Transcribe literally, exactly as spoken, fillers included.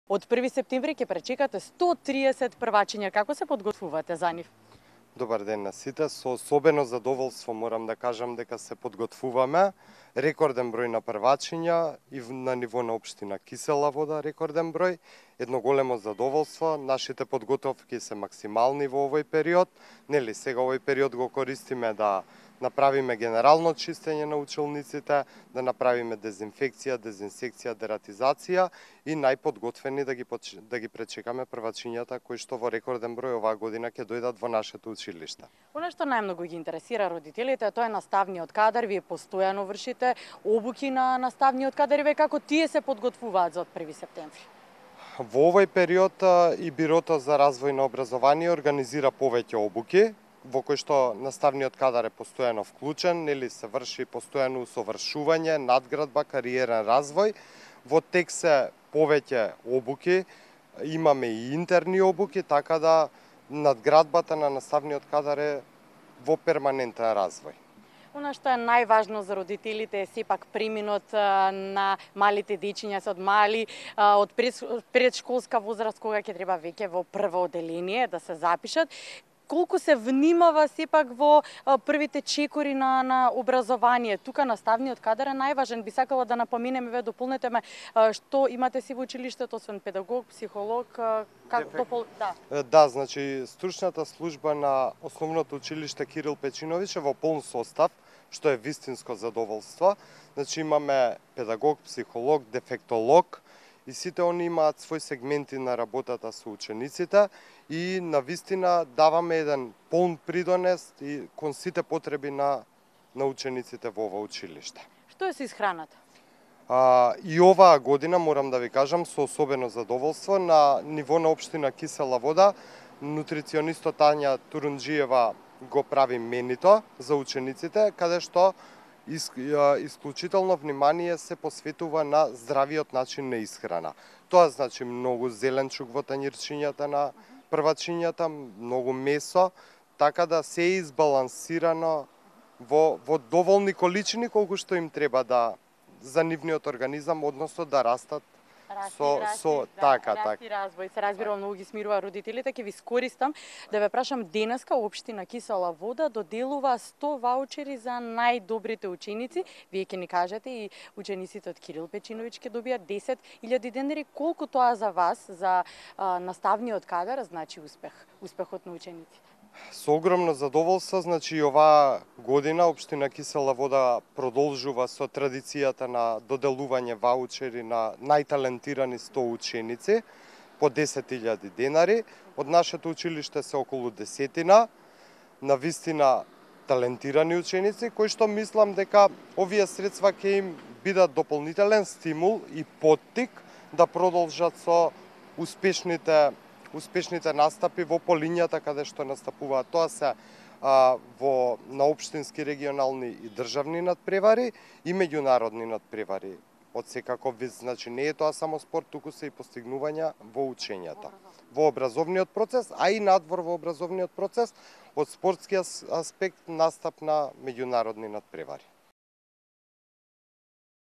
Од први септември ќе пречекате сто триесет првачиња. Како се подготвувате за нив? Добар ден на сите. Со особено задоволство морам да кажам дека се подготвуваме. Рекорден број на првачиња и на ниво на општина Кисела Вода рекорден број. Едно големо задоволство. Нашите подготовки се максимални во овој период. Нели сега овој период го користиме да направиме генерално чистење на училниците, да направиме дезинфекција, дезинсекција, дератизација и најподготвени да ги да ги пречекаме првачињата кои што во рекорден број оваа година ќе дојдат во нашето училиште. Она што најмногу ги интересира родителите, тоа е наставниот кадар. Вие постојано вршите обуки на наставниот кадар и ве како тие се подготвуваат за од први септември? Во овој период и Бирото за развој на образование организира повеќе обуки, во кој што наставниот кадар е постојано вклучен, нели се врши постојано усовршување, надградба, кариерен развој. Во тек се повеќе обуки, имаме и интерни обуки, така да надградбата на наставниот кадар е во перманентен развој. Она што е најважно за родителите е сепак преминот на малите дечиња се од мали, од предшколска возраст, кога ќе треба веќе во прво оделение да се запишат. Колку се внимава сепак во првите чекори на, на образование? Тука наставниот кадар е најважен. Би сакала да напоменеме, ве дополнете ме, што имате си во училиштето, освен педагог, психолог, как допол... да. Да, значи стручната служба на основното училиште Кирил Печиновиќ е во полн состав, што е вистинско задоволство. Значи имаме педагог, психолог, дефектолог, и сите они имаат свој сегменти на работата со учениците и на вистина даваме еден полн придонес и кон сите потреби на, на учениците во ова училиште. Што е со исхраната? А, и оваа година, морам да ви кажам, со особено задоволство, на ниво на општина Кисела Вода, нутриционистот Тања Турунџиева го прави менито за учениците, каде што исклучително внимание се посветува на здравиот начин на исхрана. Тоа значи многу зеленчук во тањирчињата на првачињата, многу месо, така да се е избалансирано во, во доволни количини колку што им треба да за нивниот организам, односно да растат Расти, со, расти, со да, така, расти, така. развој. Се разбира, многу ги смирува родителите. Ќе ви скористам да ве прашам, денеска општина Кисела Вода доделува сто ваучери за најдобрите ученици. Вие ќе ни кажете и учениците од Кирил Печиновиќ ќе добијат десет илјади денари. Колку тоа за вас, за а, наставниот кадар, значи успех, успехот на учениците? Со огромно задоволство, значи оваа година општина Кисела Вода продолжува со традицијата на доделување ваучери на најталентирани сто ученици по десет илјади денари. Од нашето училиште се околу десетина, на вистина талентирани ученици, кои што мислам дека овие средства ќе им бидат дополнителен стимул и поттик да продолжат со успешните успешните настапи во полињата каде што настапуваат. Тоа се а, во на општински, регионални и државни надпревари и меѓународни надпревари. Од секаков вид, значи не е тоа само спорт, туку се и постигнувања во учењата, во образовниот процес, а и надвор во образовниот процес, од спортски аспект настап на меѓународни надпревари.